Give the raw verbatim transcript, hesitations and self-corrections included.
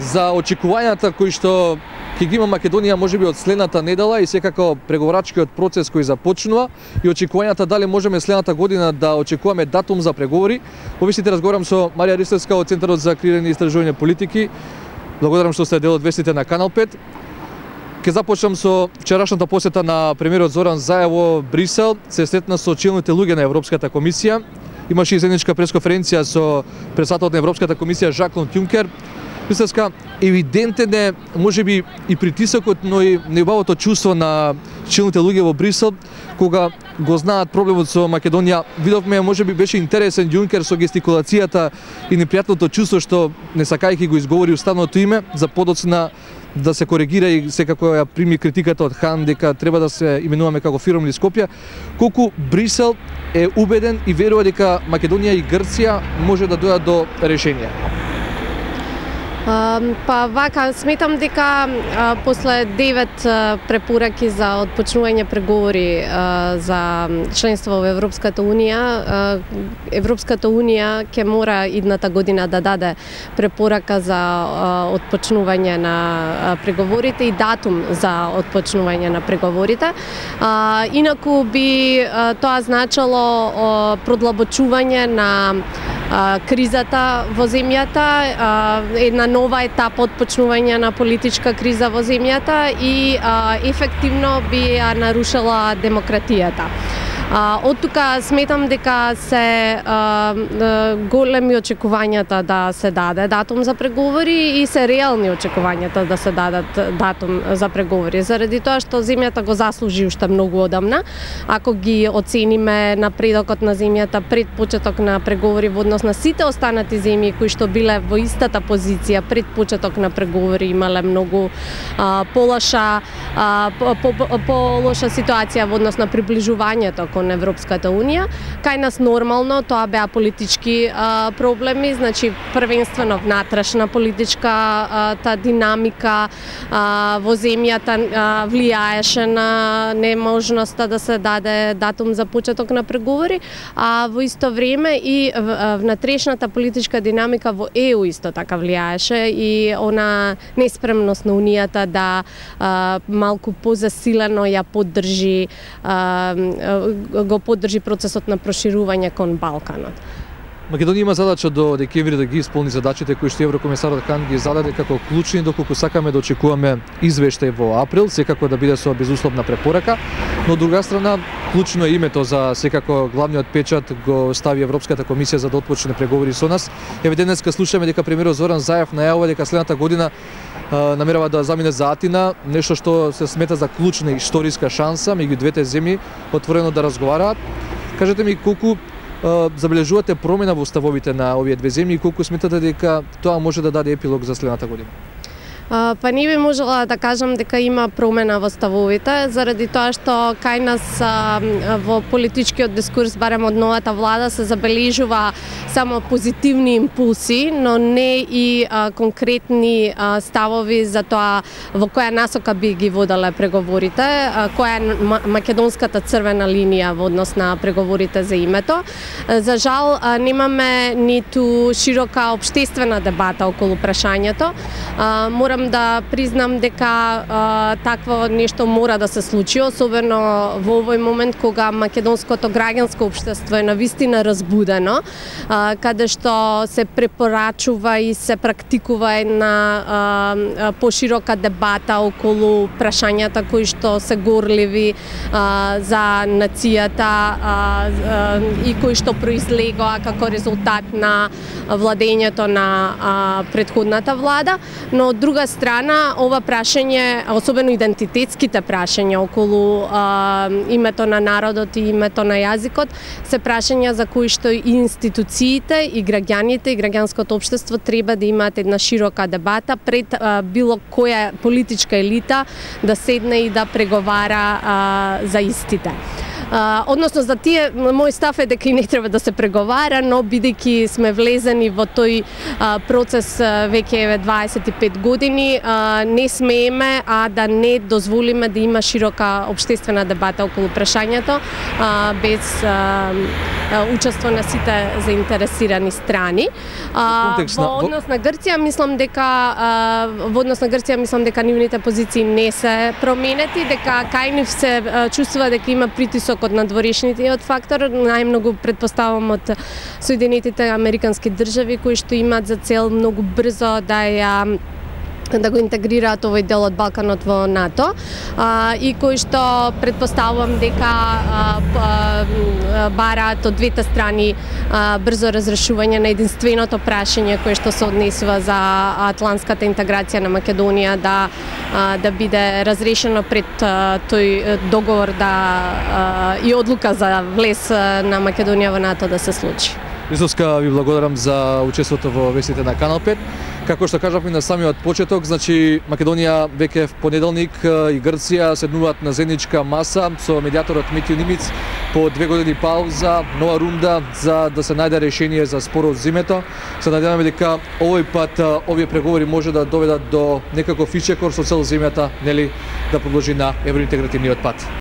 за очекувањата кои што ќе ги има Македонија можеби од следната недела и секако преговорачкиот процес кој започнува и очекувањата дали можеме следната година да очекуваме датум за преговори. Повисите разговарам со Марија Ристевска од Центарот за креирање и истражување политики. Благодарам што сте дел од вестите на Канал пет. Ке започнам со вчерашната посета на премиерот Зоран Заев во Брисел. Се сретна со челните луѓе на Европската комисија. Имаше и заедничка пресконференција со председателот на Европската комисија Жак-Клод Јункер. Мислеска, евидентен е можеби и притисокот, но и неубавото чувство на челните луѓе во Брисел кога го знаат проблемот со Македонија. Видовме можеби беше интересен Јункер со гестикулацијата и непријатното чувство што не сакајќи го изговори уставното име за подоцна да се коригира и секако ја прими критиката од Хан дека треба да се именуваме како фиром или Скопје, колку Брисел е убеден и верува дека Македонија и Грција може да дојдат до решение. Uh, па вака, сметам дека uh, после девет uh, препораки за отпочнување преговори uh, за членство во Европската Унија, uh, Европската Унија ќе мора идната година да даде препорака за uh, отпочнување на uh, преговорите и датум за отпочнување на преговорите. Uh, инаку би uh, тоа значило uh, продлабочување на uh, кризата во земјата, uh, една нова етапа отпочнување на политичка криза во земјата и а, ефективно би ја нарушила демократијата. А, од тука сметам дека се а, големи очекувањата да се даде датум за преговори и се реални очекувањата да се дадат датум за преговори. Заради тоа што земјата го заслужи уште многу одамна. Ако ги оцениме напредокот на земјата пред почеток на преговори во однос на сите останати земји кои што биле во истата позиција пред почеток на преговори, имале многу а, полоша а, по, по, по лоша ситуација во однос на приближувањето кон Европската Унија. Кај нас нормално тоа беа политички а, проблеми, значи првенствено внатрешна политичка а, та динамика а, во земјата а, влијаеше на неможноста да се даде датум за почеток на преговори, а во исто време и внатрешната политичка динамика во Е У исто така влијаеше и она неспремност на Унијата да а, малку позасилено ја поддржи а, го поддржи процесот на проширување кон Балканот. Македонија има задача до декември да ги исполни задачите кои што еврокомесарот Хан ги зададе како клучни, доколку сакаме да очекуваме извештај во април, секако да биде со безусловна препорака, но од друга страна клучно е името за секако главниот печат го стави Европската комисија за да отпочне преговори со нас. Еве денеска слушаме дека премиерот Зоран Заев најавува дека следната година а, намерава да замине за Атина, нешто што се смета за клучна историска шанса меѓу двете земји отворено да разговараат. Кажете ми колку забележувате промена во ставовите на овие две земји и колку сметате дека тоа може да даде епилог за следната година? Uh, па не би можела да кажам дека има промена во ставовите, заради тоа што кај нас uh, во политичкиот дискурс, барем од новата влада, се забележува само позитивни импулси, но не и uh, конкретни uh, ставови за тоа во која насока би ги водале преговорите, uh, која е македонската црвена линија во однос на преговорите за името. Uh, за жал, uh, немаме ниту широка општествена дебата околу прашањето. Uh, морам да признам дека а, такво нешто мора да се случи, особено во овој момент кога македонското граѓанско општество е навистина разбудено, а, каде што се препорачува и се практикува една а, поширока дебата околу прашањата кои што се горливи а, за нацијата а, а, и кои што произлегоа како резултат на владењето на а, претходната влада, но од друга страна, ова прашање, особено идентитетските прашања околу а, името на народот и името на јазикот, се прашања за кои што и институциите, и граѓаните, и граѓанското општество треба да имаат една широка дебата пред а, било која политичка елита да седне и да преговара а, за истите. Uh, односно за тие, мој став е дека и не треба да се преговара, но бидејќи сме влезени во тој uh, процес uh, веќе дваесет и пет години, страни не смееме а да не дозволиме да има широка општествена дебата околу прашањето без учество на сите заинтересирани страни. Во однос на Грција мислам дека во однос на Грција мислам дека нивните позиции не се променети, дека кај нив се чувствува дека има притисок од надворешниот фактор, најмногу предпоставам од Соединетите американски држави кои што имаат за цел многу брзо да ја да го интегрираат овој дел од Балканот во НАТО а, и кои што предпоставувам дека а, а, бараат од двете страни а, брзо разрешување на единственото прашање кое што се однесува за атлантската интеграција на Македонија да а, да биде разрешено пред а, тој договор да а, и одлука за влез на Македонија во НАТО да се случи. Истовска, ви благодарам за учеството во вестите на Канал пет. Како што кажавме на самиот почеток, значи Македонија веќе в понеделник и Грција седнуваат на заедничка маса со медиаторот Митјо Нимиц по две години пауза, нова рунда за да се најде решение за спорот зимето. Се надеваме дека овој пат овие преговори може да доведат до некаков ичекор со цел земјата, нели, да продолжи на евроинтегративниот пат.